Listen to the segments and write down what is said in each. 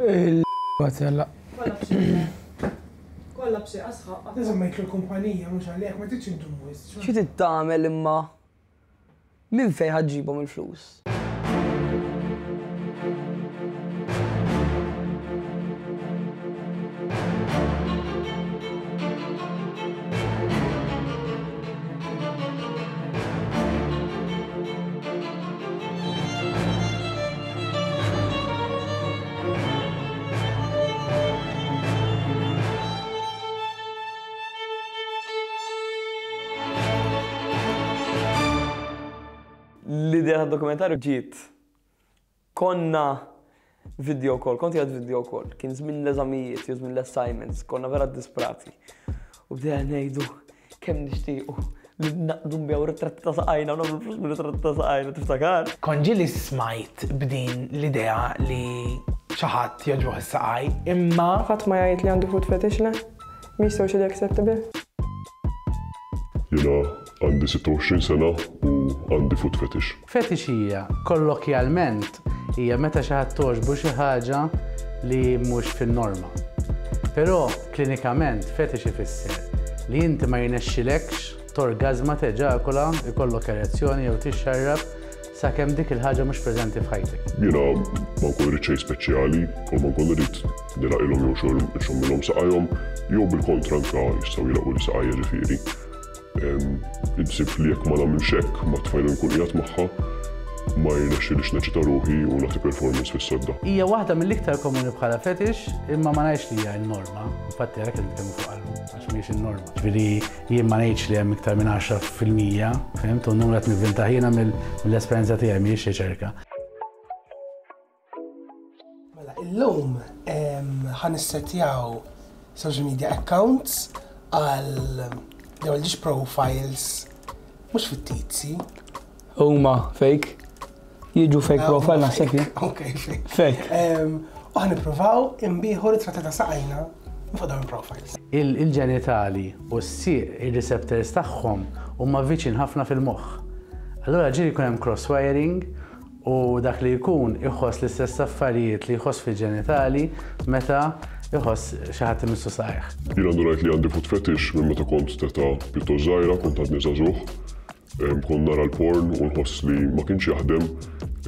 Il-għatella. Kollha b'xi asħaq. Żammejtlu l-kumpanija mhux għalih ma tridx indum wisq. Xi trid tagħmel imma minn fejn ħa ġġibhom il-flus? L-idea tad-dokumentarju ġiet konna video call, kont qiegħed video call, kien żmien l-eżamijiet, jew żmien l-assignments, konna vera disprati. U bdejna ngħidu kemm nixtiequ li naqdu nbigħu ritratti ta' saqajna u nagħmlu flus minn ritratti ta' saqajna, tiftakar? Kont ġieli smajt b'din l-idea li xi ħadd jogħġbuh is-saqaj, imma. Ħadd ma jgħid li għandu foot fetish, le? Mhix socially acceptable. Jiena għandi 26 sena u għandi foot fetish. Fetish hija, kollokjalment, hija meta xi ħadd togħġbu xi ħaġa li mhux fin-norma. Però, klinikament, fetish ifisser li inti ma jirnexxilekx torgażma, teġakula, ikollok erezzjoni jew tixxarrab sakemm dik il-ħaġa mhux preżenti f'ħajtek. Jiena ma nkun irrid xejn speċjali, kull ma nkun irrid nilgħaqilhom jew nxommilhom saqajhom, jew bil-kontra anke jistgħu jilgħaquli saqajja ġifieri. Insib li jekk ma nagħmilx hekk mat-tfajla li nkun qiegħed magħha, ma jirnexxilix neċita ruħi u nagħti performance fis-sodda. Hija waħda mill-iktar komuni bħala fetish, imma ma ngħidx li hija n-norma. Infatti għalhekk qed nitkellmu fuqha llum, għax mhijiex in-norma. Ġifieri jien ma ngħidx li hemm iktar minn 10%, fhimt? U n-numru qed nivvintah jiena mill-esperjenza tiegħi mhijiex riċerka. Mela, illum ħa nissettjaw social media accounts għal jew għal profiles mhux fittizji. Huma fake. Jiġu fake ah, profile naħseb jien. Ok, fake. Fake. U ħa nippruvaw inbiħu ritratti ta' saqajna fuq dawn il-profiles. Il-ġenitali u s-sieq ir-receptors tagħhom huma viċin ħafna fil-moħħ. Allura ġieli jkun hemm cross-wiring U dak li jkun iħoss l-istess affarijiet li jħoss fil-ġenitali meta jħoss xi ħadd imissu saqajh. Jiena ndunajt li għandi foot fetish minn meta kont t'età pjuttost żgħira, kont għadni żagħżugħ. Kont nara l-porn u nħoss li ma kienx jaħdem.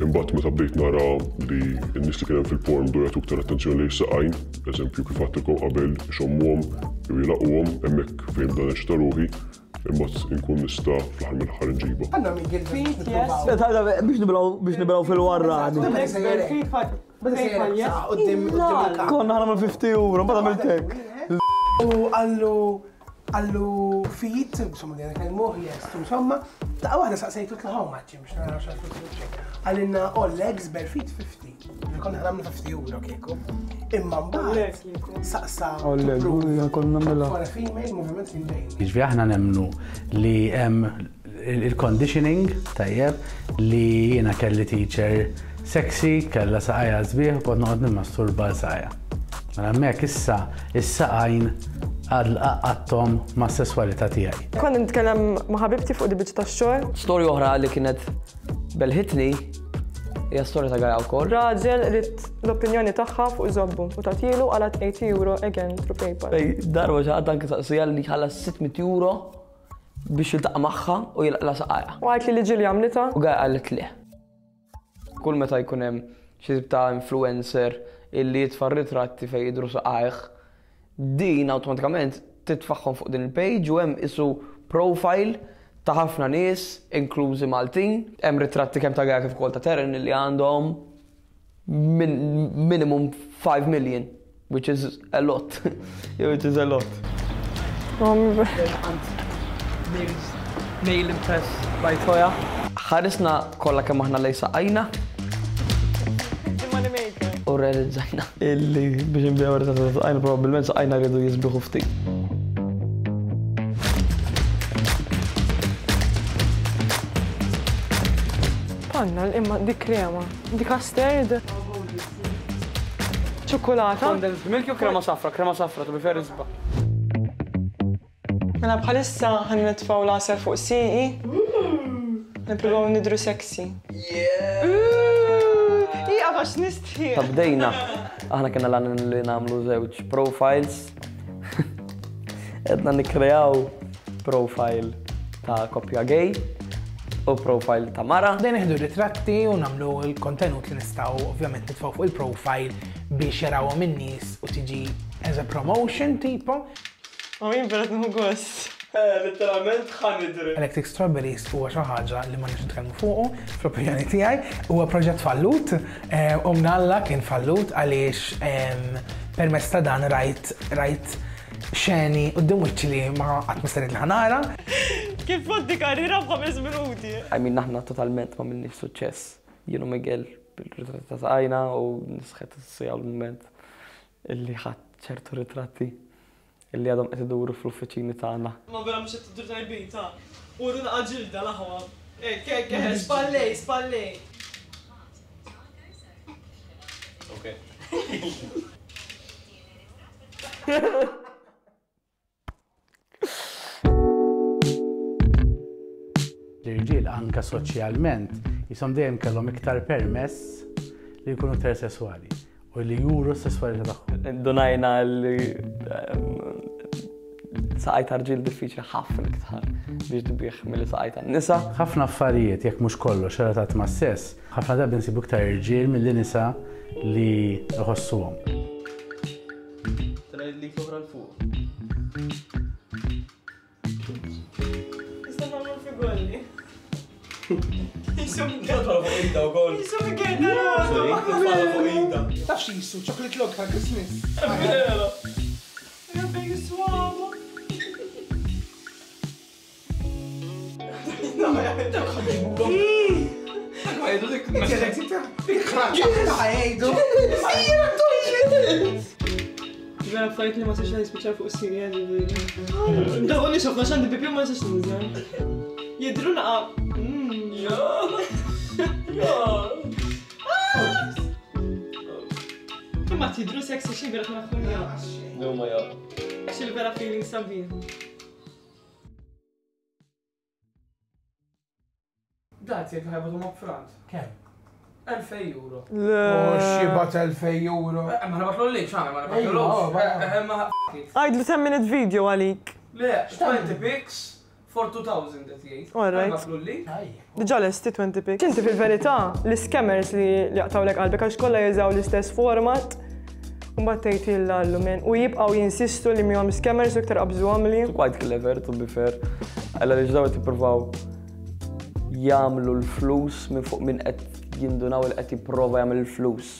Imbagħad meta bdejt nara li n-nies li kien hemm fil-porn bdew jagħtu iktar attenzjoni lejn is-saqajn, eżempju kif għedtilkom qabel ixommuhom jew jilagħquhom, hemmhekk fejn bda neċċita ruħi. Imbagħad inkun nista' fl-aħħar mill-aħħar inġibha. Għandna Miguel Feet, yes. Biex nibilgħu biex nibilgħu fil-warrani. Konna ħana 50 euro, mbagħad għamilt hekk. U għallu għallu fit, insomma, li għallu yes, insomma, ta' waħda saqsejtu tlaħaw maċċi, biex naraw xaħtu Għalinna all legs bare feet 50. Konna ħanamlu 50 euro kieku. Imma mbagħad saqsa. Konna nagħmilha. For a female movement in bejn. Jiġifieri aħna nemmnu li hemm il-conditioning tajjeb li jiena kelli teacher sexy, kellha saqajha sbieħ u kont noqgħod nimmasturba għal saqajha. Mela hemmhekk issa is-saqajn għaqqadthom mas-sesswalità tiegħi. Kont nitkellem ma' ħabibti fuq di biċċa tax-xogħol. Storja oħra li kienet belħitni hija storja ta' Gaia wkoll. Raġel ried l-opinjoni tagħha fuq żobbu u tagħtilu qalgħet 80 euro again through PayPal. Darba xi ħadd anke saqsija li ħallas 600 euro biex jiltaqa' magħha u jilqla saqajha. U qaltli li ġieli għamlitha. U Gaia qalet le. Kull meta jkun hemm xi tip ta' influencer illi jitfa' ritratti fejn jidhru saqajh, din awtomatikament titfagħhom fuq din il-page u hemm isu profile ta' ħafna nies, inklużi Maltin. Hemm ritratti kemm ta' Gaia kif ukoll ta' Taryn illi għandhom minimum 5 million, which is a lot. which is a lot. Nail Impress by Toya. Ħarisna kollha kemm aħna lejn saqajna. U realizzajna illi biex nbiegħu ritratti ta' saqajna probabbilment saqajna rridu jisbiħu ftit. Panna, imma dik krema. Di custard. Ċokolata. Condensed milk jew krema safra? Krema safra, to be fair isbaħ. Mela bħalissa ħa nitfgħu l-għasel fuq sieqi. Nippruvaw nidhru sexy. Ieqaf għax nistħi. Ta' bdejna. Aħna kena l li nagħmlu żewġ profiles. Edna nikkreaw profile ta' koppja gay u profile ta' mara. Dejn nieħdu ritratti u nagħmlu l-kontenut li nistgħu ovvjament nitfgħu fuq il-profile biex jarawhom in-nies u tiġi as a promotion tipo. U jien vera nieħu gost. Letteralment ħa nidri. Electric Strawberries huwa xi ħaġa li ma nix nitkellmu fuqu, fl-opinjoni tiegħi, huwa proġett fallut, u mnalla kien fallut għaliex permezz ta' dan rajt rajt xeni quddiem wiċċi li ma qatt ma stennejt li ħa nara. Kif tgħaddi karriera f'ħames minuti. I mean aħna totalment ma minniex suċċess. Jien u Miguel bil-ritratti ta' saqajna u nisħet is-sija l-mument illi ħadt ċertu ritratti illi għadhom qed iduru fl-uffiċini tagħna. Ma vera mhux qed tidhru tajbin ta. Uru naqa' ġilda l-aħwa. Hekk hekk eħe spallej spallej. Okay. L-irġiel anka soċjalment jisom dejjem kellhom iktar permess li jkunu iktar sesswali u li juru s-sesswalità tagħhom. Indunajna li ehm, saqaj ta' rġiel diffiċli ħafna iktar biex tbih milli saqaj ta' nisa. Ħafna affarijiet, jekk mhux kollox, relatat ma' sess, ħafna drabi nsibu iktar irġiel milli nisa li jħossuhom. Tela' l-id l-oħra 'l fuq. Nista' nagħmlu figolli. Jisu Titfa' fuq ida wkoll. Jisu Miguel Titfa' fuq ida. Taf x'jisu chocolate log tal-Christmas. Vera. Rabbi jiswamu. Vera affarijiet li ma sax nispiċċa fuq is-sirja ġifieri. Dawn li xofna x'għandi pipi ma sax ninżel. Jidru naqa. Imma tidru sexy xi vera tnaħħum ja. No ma ja. Xi vera feeling sabiħ. Dat jekk ħajbatu up front. Kemm? 2000 euro. Le. U xibat 2000 euro. Eh, ma nabatlu li, xana, ma nabatlu Ejwa, li. Ma Għajdlu 10 minute video għalik. Le, 20 pics for 2000 qed jgħid. All right. Nabatlu li. Diġà lesti 20 pics. Inti fil-verità, l-scammers li jaqtawlek qalbek għax kollha jużaw l-istess format. U mbagħad tgħid jillallu men. U jibqgħu jinsistu li mihom scammers u iktar qabżuhom li. Quite clever, to be fair. Għalla li ġdaw jippruvaw jagħmlu l-flus minn fuq minn qed jindunaw li qed jipprova jagħmel il-flus.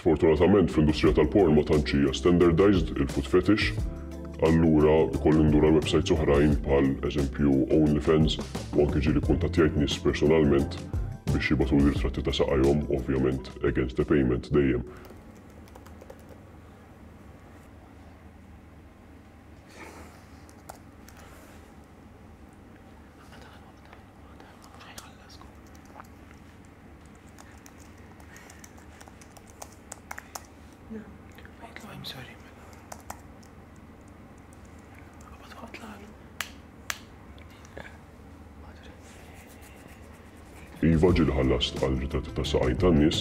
Sfortunatament fl-industrija tal-porn ma tantx hija standardized il-foot fetish, allura ikolli ndur għal websites oħrajn bħal eżempju OnlyFans u anke ġieli kuntattjajt nies personalment biex jibgħatuli ritratti ta' saqajhom, ovvjament against a payment dejjem. Iva ġieli ħallast għal ritratti ta' saqajn tan-nies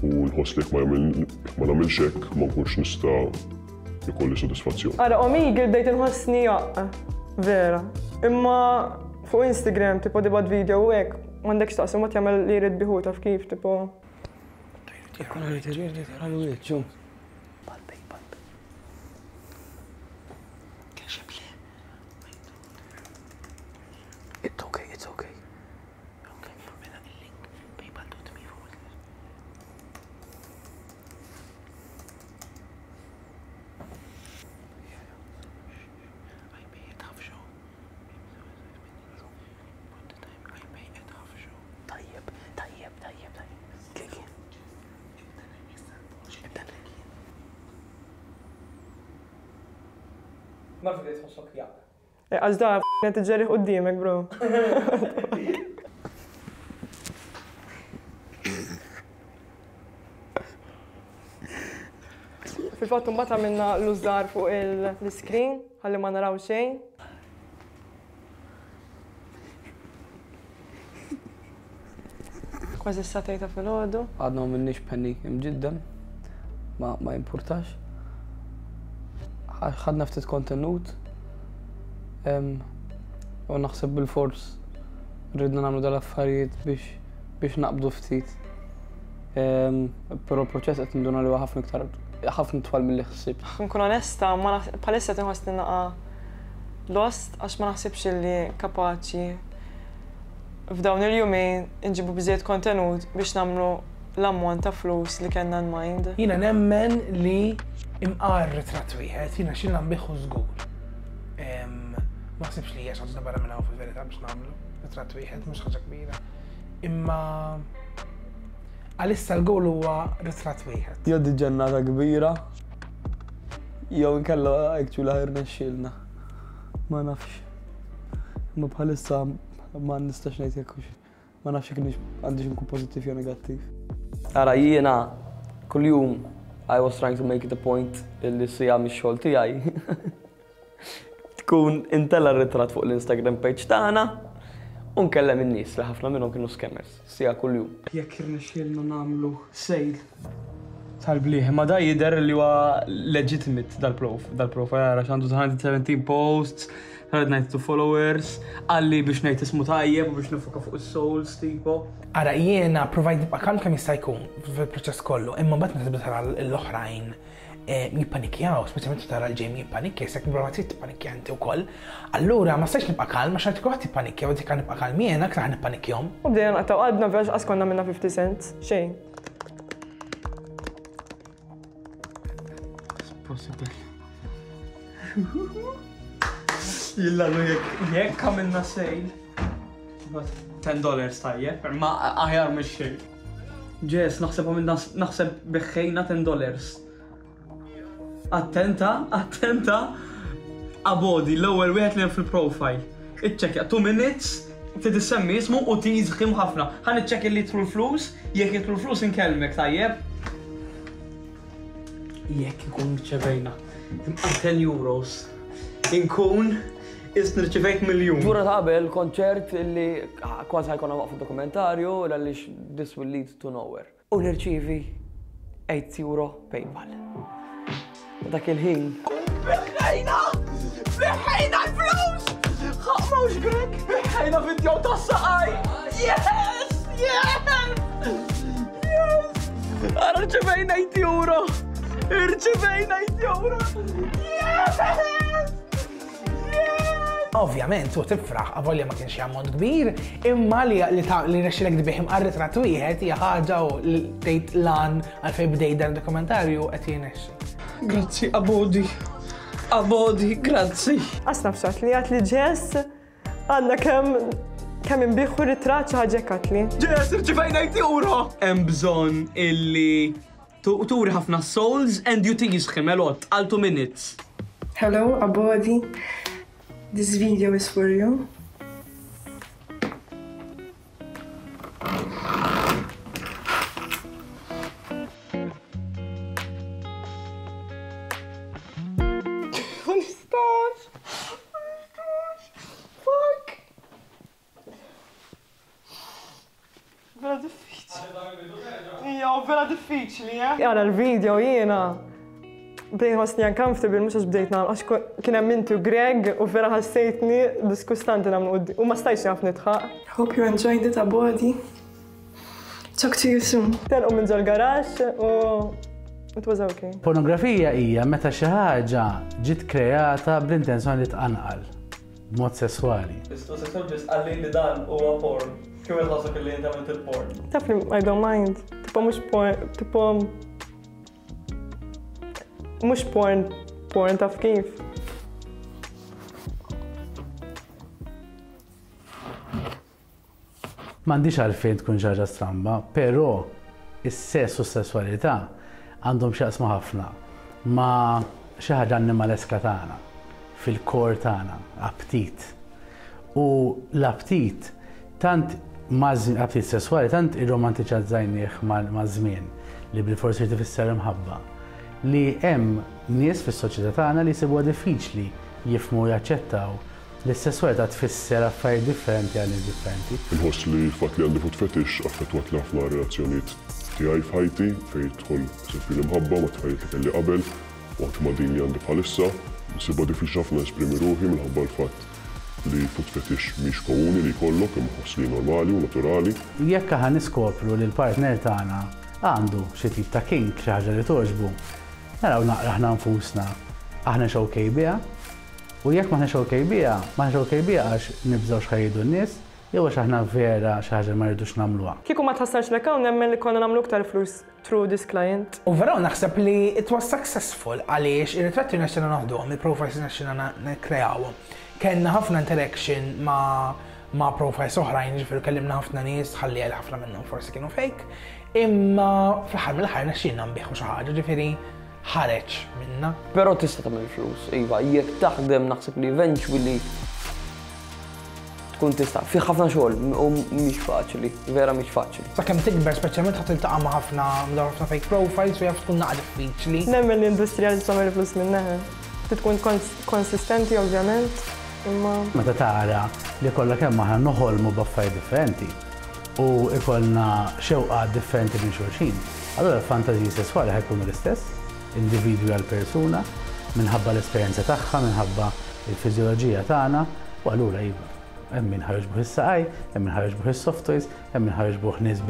u nħoss li jekk ma jagħmel jekk ma nagħmilx hekk ma nkunx nista' ikolli sodisfazzjon. Ara, Omegle bdejt inħossni jaqq. Vera. Imma fuq Instagram, tipo dibat video u hekk, m'għandekx taqsam ma jagħmel li jrid biħu taf kif, tipo. It's okay, it's okay. Tajjeb, tajjeb, tajjeb, tajjeb. Kliki. Ibda. Marfa li tħossok jaqq. Għax da qed iġġerrih quddiemek, bro. Fil-fatt imbagħad għamilna l-użar fuq l-iscreen ħalli ma naraw xejn. Kważi s-sagħtejn ta' filgħodu. Għadna ma minniex penny imġiddem, ma, ma jimpurtax. Ħadna ftit kontenut u naħseb bil-fors ridna nagħmlu dal-affarijiet biex biex naqbdu ftit. Però l-proċess qed ninduna li huwa ħafna iktar ħafna twal milli ħsibt. Nkun onesta, ma bħalissa qed inħossni naqa' lost għax ma naħsibx li kapaċi f'dawn il-jumejn inġibu biżżejjed kontenut biex nagħmlu l-ammont ta' flus li kellna in mind. Jiena nemmen li imqar ritratt wieħed, jiena xilna nbiħħu żgur. Ma ħsibx li hija xi ħaġa barra minn hawn fil-verità biex nagħmlu ritratt wieħed, mhux ħaġa kbira. Imma għalissa l-goal huwa ritratt wieħed. Jew di ġennata kbira, jew inkella actually ħa jirnexxielna. Ma nafx. Imma bħalissa ma nistax ngħid jekk hux ma nafx jekk għandix inkun pożittiv jew negattiv. Ara jiena kuljum I was trying to make it a point illi siegħa mix-xogħol tiegħi tkun intella' ritratt fuq l-Instagram page tagħna u nkellem in-nies li ħafna minnhom kienu scammers, siegħa kuljum. Jekk irnexxielna nagħmlu sale tal-blieh, imma da jidher li huwa legitimate dal-profile ara x'għandu 117 posts, 192 followers, qalli biex ngħid ismu tajjeb u biex nifoka fuq is-souls tipo. Ara jiena provajt nibqa' kalm kemm jista' jkun fil-proċess kollu, imma mbagħad meta tibda tara l-oħrajn jippanikjaw, speċjalment tara l-Jamie jippanikja, jisek prova trid tippanikja inti wkoll. Allura ma stajtx nibqa' kalm għax għad kulħadd jippanikja u dik nibqa' kalm jiena aktar nippanikjhom. U bdejna naqtgħu qalbna vera x'qas konna għamilna 50 cents, xejn. Possible. Jillallu jekk jekk għamilna sale. 10 dollars tajjeb, ma aħjar mhux xejn. Ġes, naħseb għamilna naħseb biħħejna 10 dollars. Attenta, attenta. Abodi, l-ewwel wieħed li hemm fil-profile. Iċċekkja 2 minutes, trid issemmi ismu u tiżħim ħafna. Ħa niċċekkja li jidħlu l-flus, jekk jidħlu l-flus inkellmek tajjeb. Jekk ikun rċevejna imqar 10 euros, inkun is nirċivejt miljun. Ġurnata qabel kont ċert li kważi ħajkonna waqfu dokumentarju għaliex this will lead to nowhere. U nirċievi 8 euro PayPal. U dak il-ħin. Biħħejna! Biħħejna l-flus! Ħaq mawx grek! Biħħejna video ta' saqaj! Yes! Yes! Yes! Ara rċevejna 8 euro! Irċevejna 8 euro! Yes! Ovvjament, u tifraħ, avolja ma kienx ammont kbir, imma li li ta' li rnexxilek tbih imqar ritratt wieħed hija ħaġa u li tgħid lan għalfejn bdejt dan dokumentarju qed jirnexxi. Grazzi, Abodi. Abodi, grazzi. Għas naf x'għedt li għedt li Jess għandna kemm kemm inbiħħu ritratt xi ħaġa hekk għedt li. Jess, irċivejna 8 euro! Hemm bżonn illi Turi ħafna souls and you tease him a lot għal 2 minutes. Hello Abodi, this video is for you. Ma nistax! Ma nistax! Fuck! Vera diffiċli. Ija, vera diffiċli, eh? Għara l-video jiena bdejt nħossni uncomfortable mhux għax bdejt nagħmel għax kien hemm inti u Greg u vera ħassejtni diskustanti nagħmlu u ma stajtx naf nidħaq. Hope you enjoyed it, Abodi. Talk to you soon. Telqu minn ġol-garaxx u it was okay. Pornografija hija meta xi ħaġa ġiet kreata bl-intenzjoni li tqanqal. b'mod sesswali. Is-sesswal biss qalli li dan huwa porn. Kif qed tħossok li inti għamilt il-porn? Taf li I don't mind. Tipo mhux porn, tipo mhux porn, porn taf kif. M'għandhiex għalfejn tkun xi ħaġa stramba, però is-sess u s-sesswalità għandhom x'jaqsmu ħafna ma' xi ħaġa annimaleska tagħna. fil-core tagħna, aptit. U l-aptit tant aptit sesswali tant irromantiċazzajnieh maż-żmien li bilfors irid ifisser imħabba, li hemm nies fis-soċjetà tagħna li jsibuha diffiċli jifhmu u jaċċettaw li s-sesswalità tfisser affarijiet differenti għal nies differenti. Inħoss li l-fatt li għandi foot fetish affettwatli ħafna r-relazzjonijiet tiegħi f'ħajti fejn jidħol pereżempju l-imħabba mat-tfajliet li kelli qabel u anki ma' din li għandi bħalissa. Insibha diffiċli ħafna nesprimi ruħi minħabba l-fatt li foot fetish mhix komuni li jkollok imma ħoss li hi normali u naturali. Jekk aħna niskopru li l-partner tagħna għandu xi tip ta' kink, xi ħaġa li togħġbu, naraw naqra aħna nfusna aħniex ok biha. U jekk m'aħniex ok biha, m'aħniex ok biha għax nibżgħu x'ħa jgħidu n-nies jew għax aħna vera xi ħaġa li ma rridux nagħmluha. Kieku ma tħassarx l-account nemmen li konna nagħmlu iktar flus through this client. Overall naħseb li it was successful għaliex ir-ritratti rnexxielna noħduhom, il-profiles rnexxielna nikkreawhom. Kellna ħafna interaction ma' ma' profiles oħrajn, jiġifieri kellimna ħafna nies, ħalli għal ħafna minnhom forsi kienu fake, imma fl-aħħar mill-aħħar rnexxielna nbigħu xi ħaġa, ġifieri ħareġ minna. Però tista' tagħmel flus, iva, jekk taħdem naħseb li eventually tkun tista'. Fih ħafna xogħol u mhix faċli, vera mhix faċli. Sakemm tikber speċjalment ħa tiltaqa' ma' ħafna ħafna fake profiles u jaf tkun naqa' diffiċli. Nemmen li industrija li tagħmel flus minnha. Trid tkun konsistenti ovvjament, imma. Meta tara li kollha kemm aħna noħolmu b'affarijiet differenti u jkollna xewqat differenti minn xulxin, allura l-fantażiji sesswali ħa jkunu l-istess, individwi għal persuna, minħabba l-esperjenza tagħha, minħabba l-fiżjoloġija tagħna, u allura iva, hemm min ħa jogħġbuh is-saqaj, hemm min ħa jogħġbuh is-soft toys, hemm min ħa jogħġbuh nies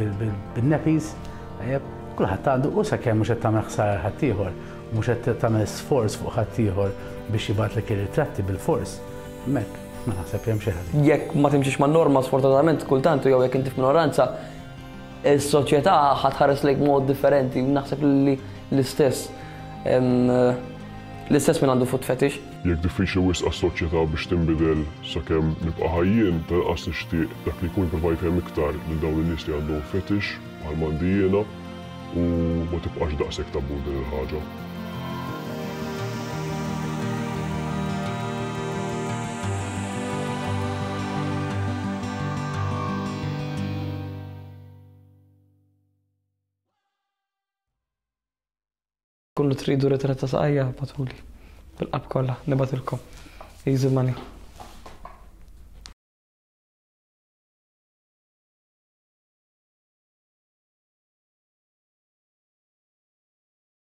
bin-nappies, tajjeb, kulħadd għandu u sakemm mhux qed tagħmel ħsara lil ħaddieħor, mhux qed tagħmel sforz fuq ħaddieħor biex jibgħatlek ir-ritratti bilfors, hemmhekk ma naħseb li hemm xejn ħażin. Jekk ma timxix man-norma sfortunatament kultant jew jekk inti f'minoranza, is-soċjetà ħa tħares lejk b'mod differenti u naħseb li l-istess l-istess min għandu foot fetish. Jekk diffiċli wisq għas-soċjetà biex tinbidel sakemm nibqa' ħaj jien, tal-inqas nixtieq dak li jkun jipprova jfhem iktar lil dawn in-nies li għandhom fetish bħal m'għandi jiena u ma tibqax daqshekk tabù din il-ħaġa. Kullu tridu ritratt ta' saqajja, bagħtuli. Bil-qalb kollha, nibgħatilkom. Easy money.